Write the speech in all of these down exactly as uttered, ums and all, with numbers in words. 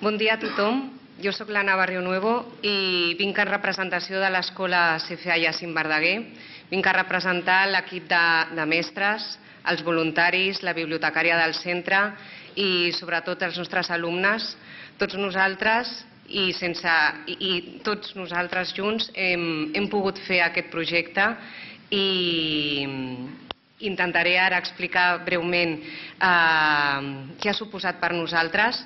Bon dia a tothom. Jo soc l'Anna Barrio Nuevo i vinc en representació de l'Escola C F A Jacint Verdaguer. Vinc a representar l'equip de, de mestres, els voluntaris, la bibliotecària del centre i sobretot els nostres alumnes. Tots nosaltres i, sense, i, i tots nosaltres junts hem, hem pogut fer aquest projecte i intentaré ara explicar breument eh, què ha suposat per nosaltres.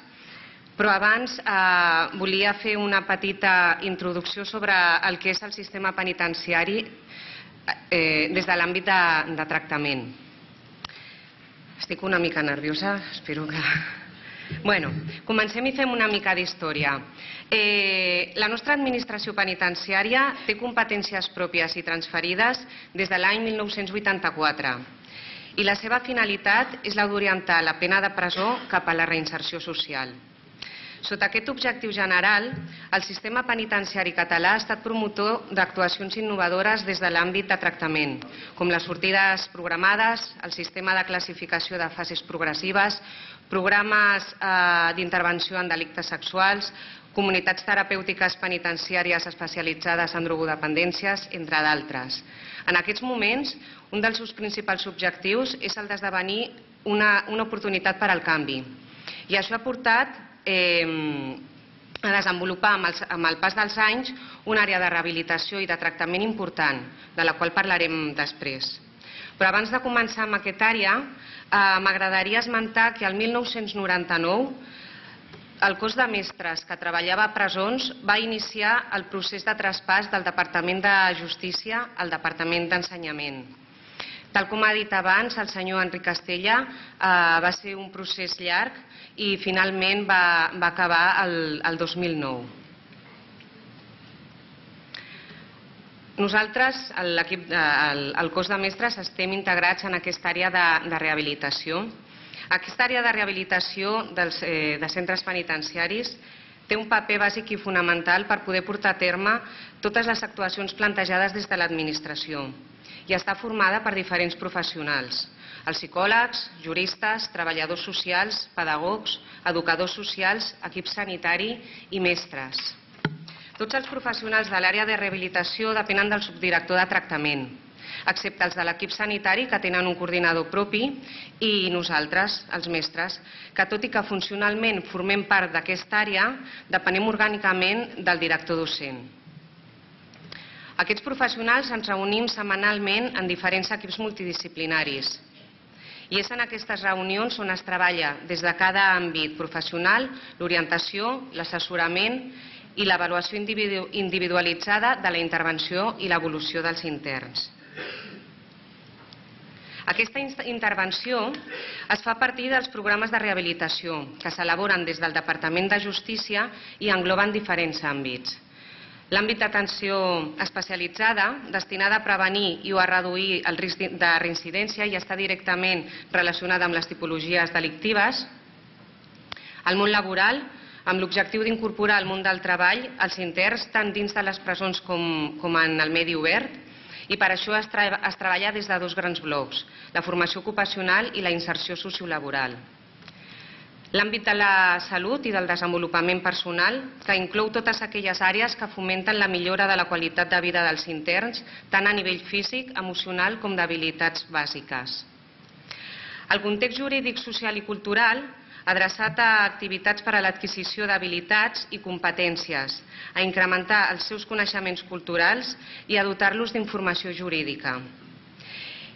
Però abans eh, volia fer una petita introducció sobre el que és el sistema penitenciari eh, des de l'àmbit de, de tractament. Estic una mica nerviosa, espero que... Bueno, comencem i fem una mica d'història. Eh, la nostra administració penitenciària té competències pròpies i transferides des de l'any mil nou-cents vuitanta-quatre i la seva finalitat és la d'orientar la pena de presó cap a la reinserció social. Sota aquest objectiu general, el sistema penitenciari català ha estat promotor d'actuacions innovadores des de l'àmbit de tractament, com les sortides programades, el sistema de classificació de fases progressives, programes eh, d'intervenció en delictes sexuals, comunitats terapèutiques penitenciàries especialitzades en drogodependències, entre d'altres. En aquests moments, un dels seus principals objectius és el d'esdevenir una, una oportunitat per al canvi. I això ha portat Eh, a desenvolupar amb el, amb el pas dels anys una àrea de rehabilitació i de tractament important, de la qual parlarem després. Però abans de començar amb aquesta àrea, eh, m'agradaria esmentar que el mil nou-cents noranta-nou el cos de mestres que treballava a presons va iniciar el procés de traspàs del Departament de Justícia al Departament d'Ensenyament. Tal com ha dit abans el senyor Enric Castella, eh, va ser un procés llarg i finalment va, va acabar el, el dos mil nou. Nosaltres, l'equip, el, el cos de mestres, estem integrats en aquesta àrea de, de rehabilitació. Aquesta àrea de rehabilitació dels, eh, de centres penitenciaris té un paper bàsic i fonamental per poder portar a terme totes les actuacions plantejades des de l'administració i està formada per diferents professionals, els psicòlegs, juristes, treballadors socials, pedagogs, educadors socials, equip sanitari i mestres. Tots els professionals de l'àrea de rehabilitació depenen del subdirector de tractament, excepte els de l'equip sanitari, que tenen un coordinador propi, i nosaltres, els mestres, que tot i que funcionalment formem part d'aquesta àrea, depenem orgànicament del director docent. Aquests professionals ens reunim setmanalment en diferents equips multidisciplinaris i és en aquestes reunions on es treballa des de cada àmbit professional l'orientació, l'assessorament i l'avaluació individualitzada de la intervenció i l'evolució dels interns. Aquesta intervenció es fa a partir dels programes de rehabilitació que s'elaboren des del Departament de Justícia i engloben diferents àmbits. L'àmbit d'atenció especialitzada, destinada a prevenir i o a reduir el risc de reincidència i està directament relacionada amb les tipologies delictives. El món laboral, amb l'objectiu d'incorporar al món del treball els interns tant dins de les presons com, com en el medi obert, i per això es, tra es treballa des de dos grans blocs, la formació ocupacional i la inserció sociolaboral. L'àmbit de la salut i del desenvolupament personal, que inclou totes aquelles àrees que fomenten la millora de la qualitat de vida dels interns, tant a nivell físic, emocional com d'habilitats bàsiques. El context jurídic, social i cultural, adreçat a activitats per a l'adquisició d'habilitats i competències, a incrementar els seus coneixements culturals i a dotar-los d'informació jurídica.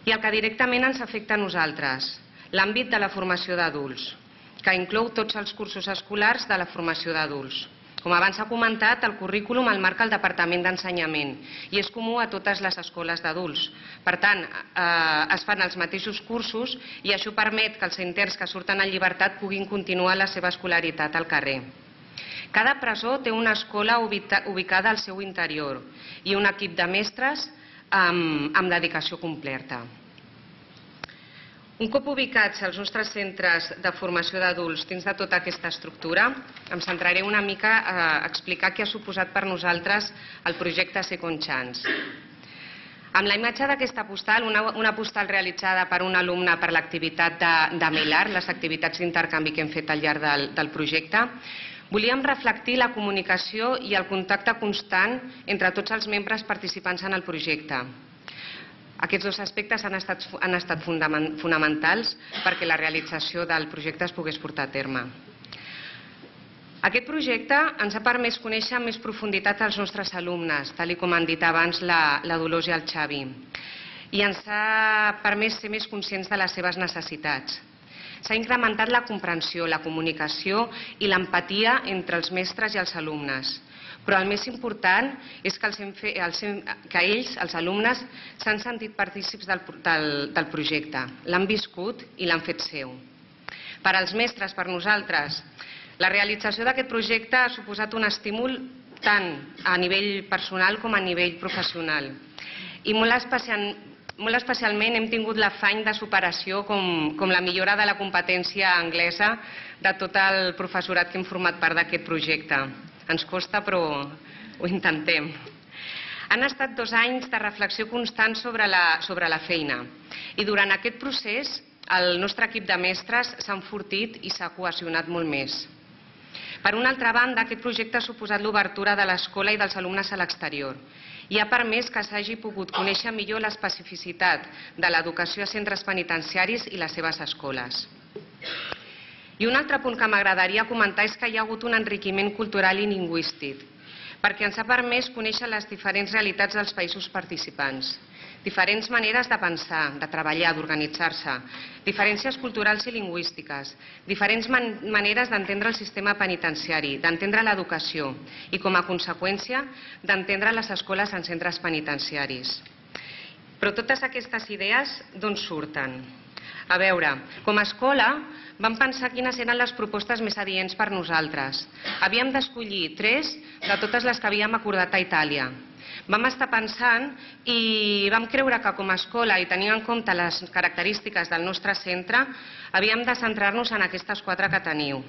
I el que directament ens afecta a nosaltres, l'àmbit de la formació d'adults, que inclou tots els cursos escolars de la formació d'adults. Com abans s'ha comentat, el currículum el marca el Departament d'Ensenyament i és comú a totes les escoles d'adults. Per tant, eh, es fan els mateixos cursos i això permet que els interns que surten en llibertat puguin continuar la seva escolaritat al carrer. Cada presó té una escola ubicada al seu interior i un equip de mestres amb, amb dedicació completa. Un cop ubicats els nostres centres de formació d'adults dins de tota aquesta estructura, em centraré una mica a explicar què ha suposat per nosaltres el projecte Second Chance. Amb la imatge d'aquesta postal, una, una postal realitzada per un alumne per l'activitat de, de MELAR, les activitats d'intercanvi que hem fet al llarg del, del projecte, Volíem reflectir la comunicació i el contacte constant entre tots els membres participants en el projecte. Aquests dos aspectes han estat, han estat fonamentals perquè la realització del projecte es pogués portar a terme. Aquest projecte ens ha permès conèixer amb més profunditat els nostres alumnes, tal com han dit abans la, la Dolors i el Xavi, i ens ha permès ser més conscients de les seves necessitats. S'ha incrementat la comprensió, la comunicació i l'empatia entre els mestres i els alumnes. Però el més important és que, els hem fe, els hem, que ells, els alumnes, s'han sentit partícips del, del, del projecte, l'han viscut i l'han fet seu. Per als mestres, per nosaltres, la realització d'aquest projecte ha suposat un estímul tant a nivell personal com a nivell professional. I molt, especial, molt especialment hem tingut l'afany de superació com, com la millora de la competència anglesa de tot el professorat que hem format part d'aquest projecte. Ens costa, però ho intentem. Han estat dos anys de reflexió constant sobre la, sobre la feina i durant aquest procés el nostre equip de mestres s'ha enfortit i s'ha cohesionat molt més. Per una altra banda, aquest projecte ha suposat l'obertura de l'escola i dels alumnes a l'exterior i ha permès que s'hagi pogut conèixer millor l'especificitat de l'educació a centres penitenciaris i les seves escoles. I un altre punt que m'agradaria comentar és que hi ha hagut un enriquiment cultural i lingüístic, perquè ens ha permès conèixer les diferents realitats dels països participants, diferents maneres de pensar, de treballar, d'organitzar-se, diferències culturals i lingüístiques, diferents man maneres d'entendre el sistema penitenciari, d'entendre l'educació i, com a conseqüència, d'entendre les escoles en centres penitenciaris. Però totes aquestes idees d'on surten? A veure, com a escola vam pensar quines eren les propostes més adients per nosaltres. Havíem d'escollir tres de totes les que havíem acordat a Itàlia. Vam estar pensant i vam creure que com a escola, i tenint en compte les característiques del nostre centre, havíem de centrar-nos en aquestes quatre que teniu.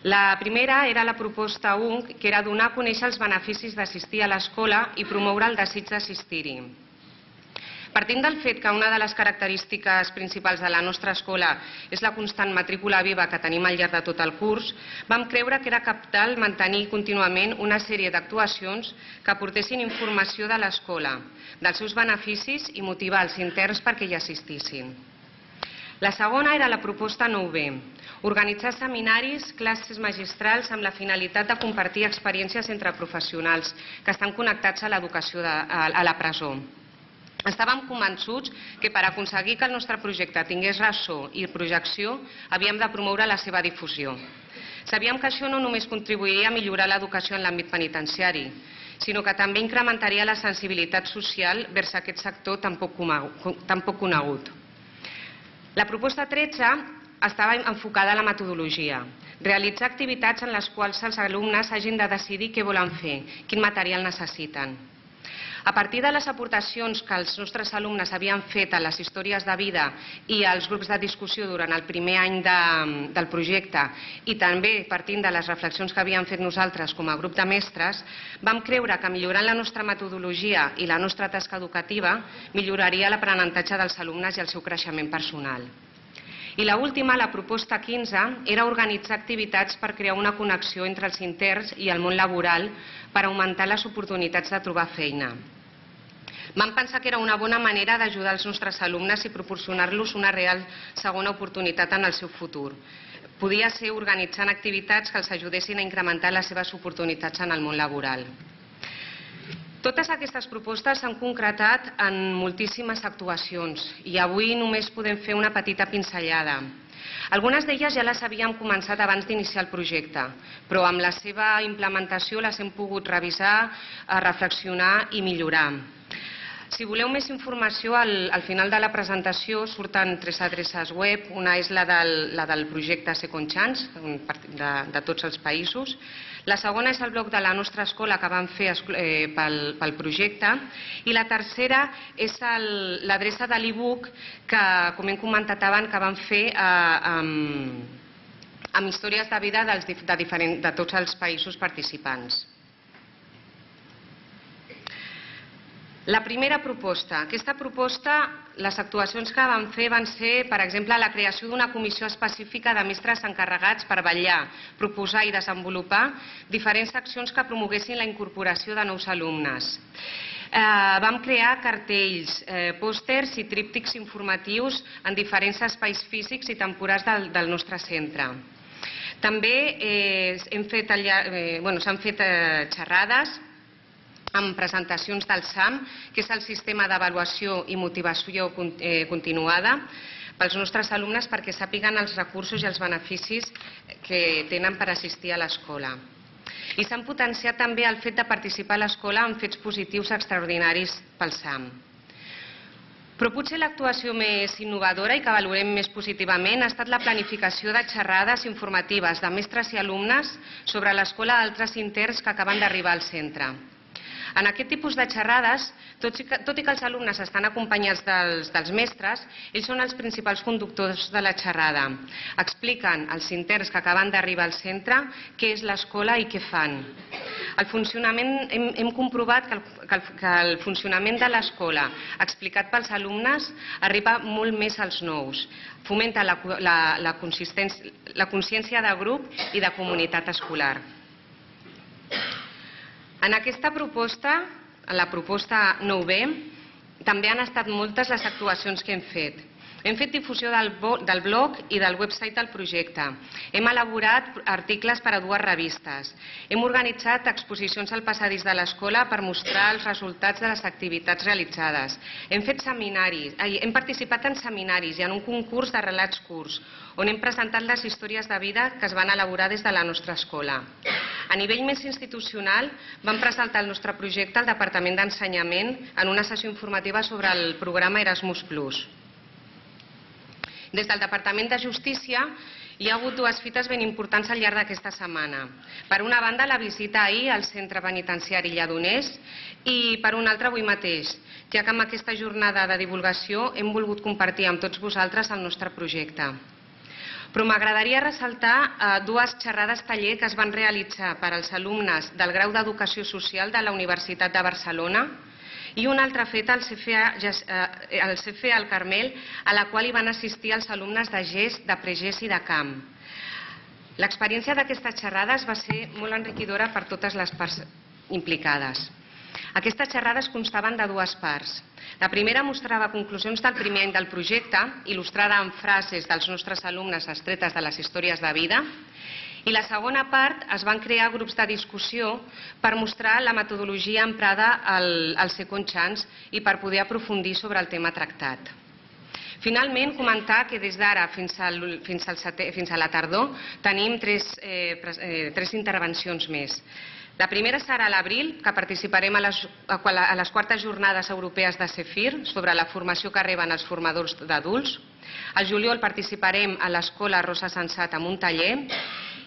La primera era la proposta U N C, que era donar a conèixer els beneficis d'assistir a l'escola i promoure el desig d'assistir-hi. Partint del fet que una de les característiques principals de la nostra escola és la constant matrícula viva que tenim al llarg de tot el curs, vam creure que era cabdal mantenir contínuament una sèrie d'actuacions que aportessin informació de l'escola, dels seus beneficis i motivar els interns perquè hi assistissin. La segona era la proposta nou B, organitzar seminaris, classes magistrals amb la finalitat de compartir experiències entre professionals que estan connectats a l'educació a la presó. Estàvem convençuts que per aconseguir que el nostre projecte tingués ressò i projecció havíem de promoure la seva difusió. Sabíem que això no només contribuiria a millorar l'educació en l'àmbit penitenciari, sinó que també incrementaria la sensibilitat social vers aquest sector tan poc conegut. La proposta tretze estava enfocada a la metodologia, realitzar activitats en les quals els alumnes hagin de decidir què volen fer, quin material necessiten. A partir de les aportacions que els nostres alumnes havien fet a les històries de vida i als grups de discussió durant el primer any de, del projecte i també partint de les reflexions que havíem fet nosaltres com a grup de mestres, vam creure que millorant la nostra metodologia i la nostra tasca educativa milloraria l'aprenentatge dels alumnes i el seu creixement personal. I l'última, la proposta quinze, era organitzar activitats per crear una connexió entre els interns i el món laboral per augmentar les oportunitats de trobar feina. Vam pensar que era una bona manera d'ajudar els nostres alumnes i proporcionar-los una real segona oportunitat en el seu futur. Podia ser organitzant activitats que els ajudessin a incrementar les seves oportunitats en el món laboral. Totes aquestes propostes s'han concretat en moltíssimes actuacions i avui només podem fer una petita pinzellada. Algunes d'elles ja les havíem començat abans d'iniciar el projecte, però amb la seva implementació les hem pogut revisar, reflexionar i millorar. Si voleu més informació, al, al final de la presentació surten tres adreces web. Una és la del, la del projecte Second Chance, de, de tots els països. La segona és el blog de la nostra escola que vam fer eh, pel, pel projecte. I la tercera és l'adreça de l'e-book que, com hem comentat abans, que vam fer eh, amb, amb històries de vida dels, de, diferent, de tots els països participants. La primera proposta. Aquesta proposta, les actuacions que vam fer van ser, per exemple, la creació d'una comissió específica de mestres encarregats per vetllar, proposar i desenvolupar diferents accions que promoguessin la incorporació de nous alumnes. Eh, vam crear cartells, eh, pòsters i tríptics informatius en diferents espais físics i temporals del, del nostre centre. També eh, hem fet, eh, bueno, s'han fet eh, xerrades amb presentacions del S A M, que és el sistema d'avaluació i motivació continuada pels nostres alumnes perquè sàpiguen els recursos i els beneficis que tenen per assistir a l'escola. I s'han potenciat també el fet de participar a l'escola en fets positius extraordinaris pel S A M. Però potser l'actuació més innovadora i que valorem més positivament ha estat la planificació de xerrades informatives de mestres i alumnes sobre l'escola d'altres interns que acaben d'arribar al centre. En aquest tipus de xerrades, tot i que, tot i que els alumnes estan acompanyats dels, dels mestres, ells són els principals conductors de la xerrada. Expliquen als interns que acaben d'arribar al centre què és l'escola i què fan. El funcionament, hem, hem comprovat que el, que, el, que el funcionament de l'escola explicat pels alumnes arriba molt més als nous. Fomenta la, la, la, la consciència de grup i de comunitat escolar. En aquesta proposta, en la proposta nou B, també han estat moltes les actuacions que hem fet. Hem fet difusió del, del blog i del website del projecte. Hem elaborat articles per a dues revistes. Hem organitzat exposicions al passadís de l'escola per mostrar els resultats de les activitats realitzades. Hem fet seminaris, hem participat en seminaris i en un concurs de relats curts, on hem presentat les històries de vida que es van elaborar des de la nostra escola. A nivell més institucional, vam presentar el nostre projecte al Departament d'Ensenyament en una sessió informativa sobre el programa Erasmus plus. Des del Departament de Justícia hi ha hagut dues fites ben importants al llarg d'aquesta setmana. Per una banda, la visita ahir al centre penitenciari Lledoners i per una altra avui mateix, ja que amb aquesta jornada de divulgació hem volgut compartir amb tots vosaltres el nostre projecte. Però m'agradaria ressaltar dues xerrades taller que es van realitzar per als alumnes del grau d'Educació Social de la Universitat de Barcelona i una altra feta al C F A al Carmel, a la qual hi van assistir els alumnes de G E S, de Pre-G E S i de Camp. L'experiència d'aquestes xerrades va ser molt enriquidora per totes les parts implicades. Aquestes xerrades constaven de dues parts. La primera mostrava conclusions del primer any del projecte, il·lustrada amb frases dels nostres alumnes extretes de les històries de vida, i la segona part es van crear grups de discussió per mostrar la metodologia emprada al, al Second Chance i per poder aprofundir sobre el tema tractat. Finalment, comentar que des d'ara fins, al, fins, al seté, fins a la tardor tenim tres, eh, eh, tres intervencions més. La primera serà a l'abril, que participarem a les, a les quartes jornades europees de CEFIR sobre la formació que reben els formadors d'adults. Al juliol participarem a l'Escola Rosa Sensat amb un taller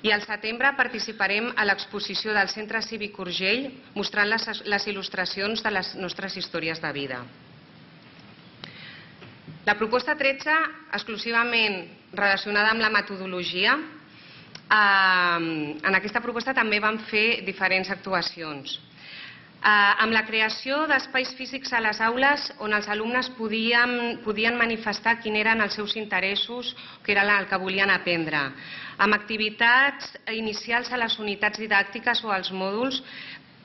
i al setembre participarem a l'exposició del Centre Cívic Urgell mostrant les, les il·lustracions de les nostres històries de vida. La proposta tretze, exclusivament relacionada amb la metodologia, en aquesta proposta també vam fer diferents actuacions. Amb la creació d'espais físics a les aules on els alumnes podien, podien manifestar quins eren els seus interessos, que era el que volien aprendre. Amb activitats inicials a les unitats didàctiques o als mòduls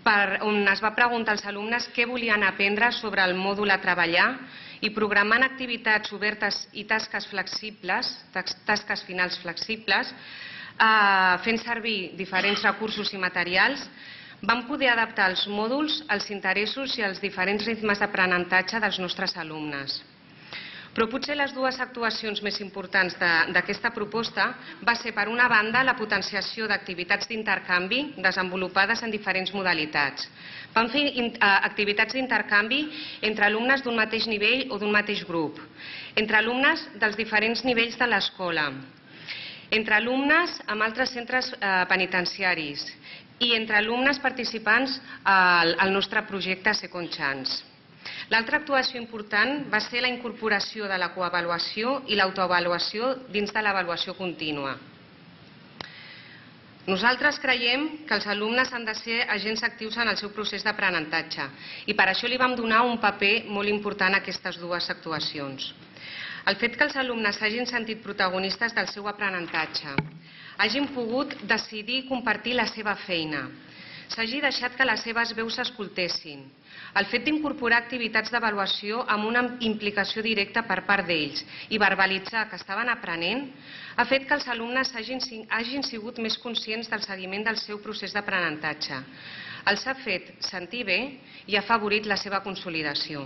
per, on es va preguntar als alumnes què volien aprendre sobre el mòdul a treballar i programant activitats obertes i tasques flexibles, tasques finals flexibles, fent servir diferents recursos i materials, vam poder adaptar els mòduls als interessos i als diferents ritmes d'aprenentatge dels nostres alumnes. Però potser les dues actuacions més importants d'aquesta proposta va ser, per una banda, la potenciació d'activitats d'intercanvi desenvolupades en diferents modalitats. Vam fer activitats d'intercanvi entre alumnes d'un mateix nivell o d'un mateix grup, entre alumnes dels diferents nivells de l'escola, entre alumnes amb altres centres penitenciaris i entre alumnes participants al nostre projecte Second Chance. L'altra actuació important va ser la incorporació de la coavaluació i l'autoavaluació dins de l'avaluació contínua. Nosaltres creiem que els alumnes han de ser agents actius en el seu procés d'aprenentatge i per això li vam donar un paper molt important a aquestes dues actuacions. El fet que els alumnes s'hagin sentit protagonistes del seu aprenentatge, hagin pogut decidir i compartir la seva feina, s'hagi deixat que les seves veus s'escoltessin, el fet d'incorporar activitats d'avaluació amb una implicació directa per part d'ells i verbalitzar que estaven aprenent, ha fet que els alumnes hagin sigut més conscients del seguiment del seu procés d'aprenentatge. Els ha fet sentir bé i ha afavorit la seva consolidació.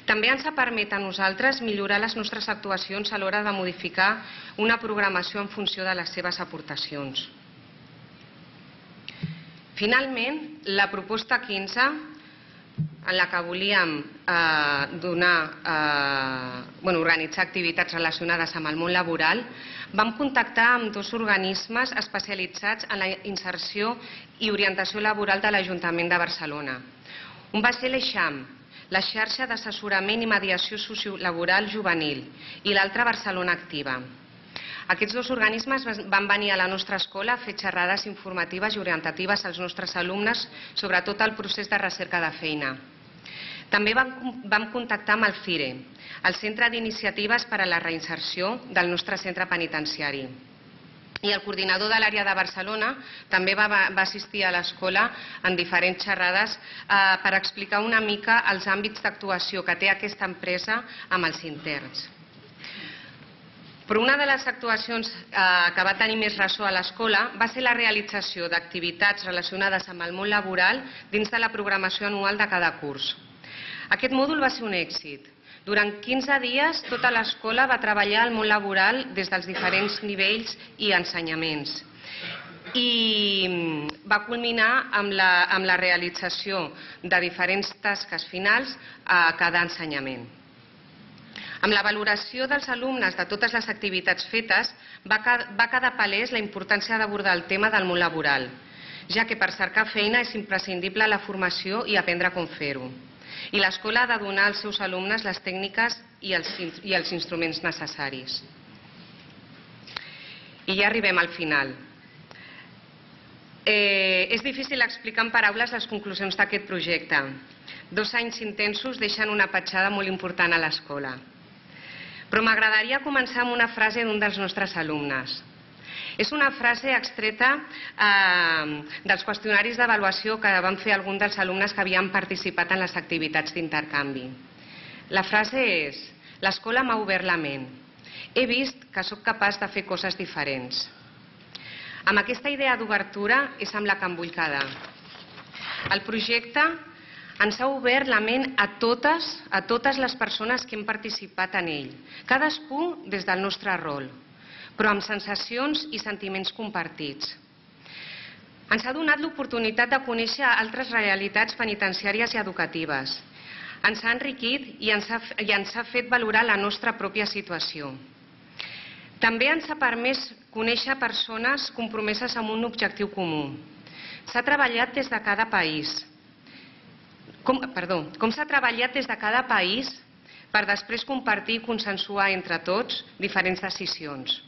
També ens ha permès a nosaltres millorar les nostres actuacions a l'hora de modificar una programació en funció de les seves aportacions. Finalment, la proposta quinze, en la que volíem donar, bueno, organitzar activitats relacionades amb el món laboral, vam contactar amb dos organismes especialitzats en la inserció i orientació laboral de l'Ajuntament de Barcelona. Un va ser l'Eixam, la xarxa d'assessorament i mediació sociolaboral juvenil, i l'altre Barcelona Activa. Aquests dos organismes van venir a la nostra escola a fer xerrades informatives i orientatives als nostres alumnes sobre tot el procés de recerca de feina. També vam contactar amb el CIRE, el Centre d'Iniciatives per a la Reinserció del nostre centre penitenciari. I el coordinador de l'àrea de Barcelona també va assistir a l'escola en diferents xerrades per explicar una mica els àmbits d'actuació que té aquesta empresa amb els interns. Però una de les actuacions que va tenir més ressò a l'escola va ser la realització d'activitats relacionades amb el món laboral dins de la programació anual de cada curs. Aquest mòdul va ser un èxit. Durant quinze dies, tota l'escola va treballar al món laboral des dels diferents nivells i ensenyaments. I va culminar amb la realització de diferents tasques finals a cada ensenyament. Amb la valoració dels alumnes de totes les activitats fetes, va quedar palès la importància d'abordar el tema del món laboral, ja que per cercar feina és imprescindible la formació i aprendre com fer-ho. I l'escola ha de donar als seus alumnes les tècniques i els instruments necessaris. I ja arribem al final. És difícil explicar en paraules les conclusions d'aquest projecte. Dos anys intensos deixen una petjada molt important a l'escola. Però m'agradaria començar amb una frase d'un dels nostres alumnes. És una frase extreta dels qüestionaris d'avaluació que van fer alguns dels alumnes que havien participat en les activitats d'intercanvi. La frase és: l'escola m'ha obert la ment. He vist que sóc capaç de fer coses diferents. Amb aquesta idea d'obertura és amb la que em vull quedar. El projecte ens ha obert la ment a totes, a totes les persones que hem participat en ell, cadascú des del nostre rol, però amb sensacions i sentiments compartits. Ens ha donat l'oportunitat de conèixer altres realitats penitenciàries i educatives. Ens ha enriquit i ens ha fet valorar la nostra pròpia situació. També ens ha permès conèixer persones compromeses amb un objectiu comú. S'ha treballat des de cada país. Perdó, com s'ha treballat des de cada país per després compartir i consensuar entre tots diferents decisions.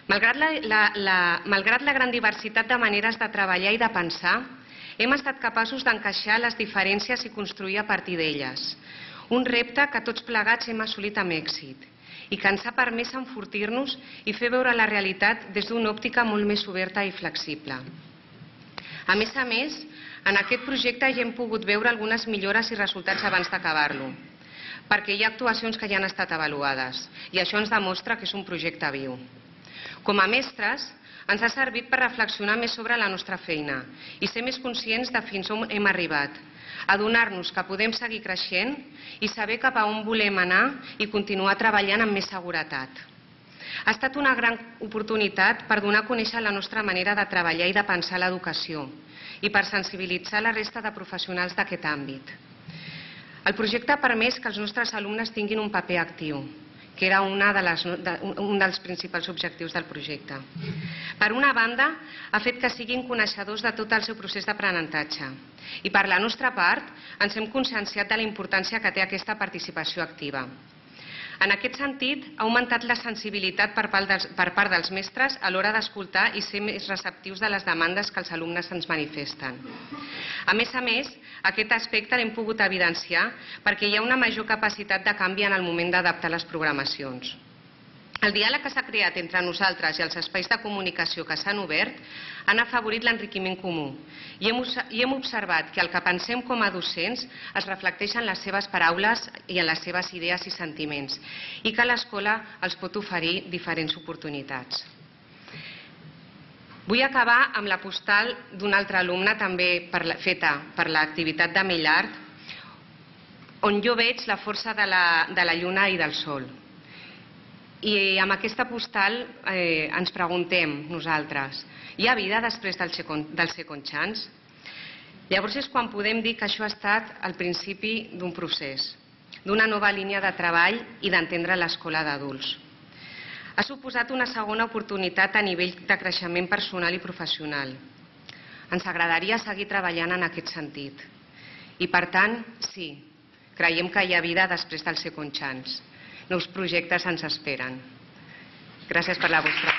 Malgrat la gran diversitat de maneres de treballar i de pensar, hem estat capaços d'encaixar les diferències i construir a partir d'elles. Un repte que tots plegats hem assolit amb èxit i que ens ha permès enfortir-nos i fer veure la realitat des d'una òptica molt més oberta i flexible. A més a més, en aquest projecte ja hem pogut veure algunes millores i resultats abans d'acabar-lo, perquè hi ha actuacions que ja han estat avaluades i això ens demostra que és un projecte viu. Com a mestres, ens ha servit per reflexionar més sobre la nostra feina i ser més conscients de fins on hem arribat, adonar-nos que podem seguir creixent i saber cap a on volem anar i continuar treballant amb més seguretat. Ha estat una gran oportunitat per donar a conèixer la nostra manera de treballar i de pensar l'educació i per sensibilitzar la resta de professionals d'aquest àmbit. El projecte ha permès que els nostres alumnes tinguin un paper actiu, que era un dels principals objectius del projecte. Per una banda, ha fet que siguin coneixedors de tot el seu procés d'aprenentatge i per la nostra part ens hem conscienciat de la importància que té aquesta participació activa. En aquest sentit, ha augmentat la sensibilitat per part dels, per part dels mestres a l'hora d'escoltar i ser més receptius de les demandes que els alumnes ens manifesten. A més a més, aquest aspecte l'hem pogut evidenciar perquè hi ha una major capacitat de canvi en el moment d'adaptar les programacions. El diàleg que s'ha creat entre nosaltres i els espais de comunicació que s'han obert han afavorit l'enriquiment comú i hem, i hem observat que el que pensem com a docents es reflecteix en les seves paraules i en les seves idees i sentiments i que l'escola els pot oferir diferents oportunitats. Vull acabar amb la postal d'un altre alumne també per la, feta per l'activitat de Millard, on jo veig la força de la, de la lluna i del sol. I amb aquesta postal eh, ens preguntem nosaltres, hi ha vida després del second, del second chance? Llavors és quan podem dir que això ha estat el principi d'un procés, d'una nova línia de treball i d'entendre l'escola d'adults. Ha suposat una segona oportunitat a nivell de creixement personal i professional. Ens agradaria seguir treballant en aquest sentit. I per tant, sí, creiem que hi ha vida després del second chance. Nous projectes ens esperen. Gràcies per la vostra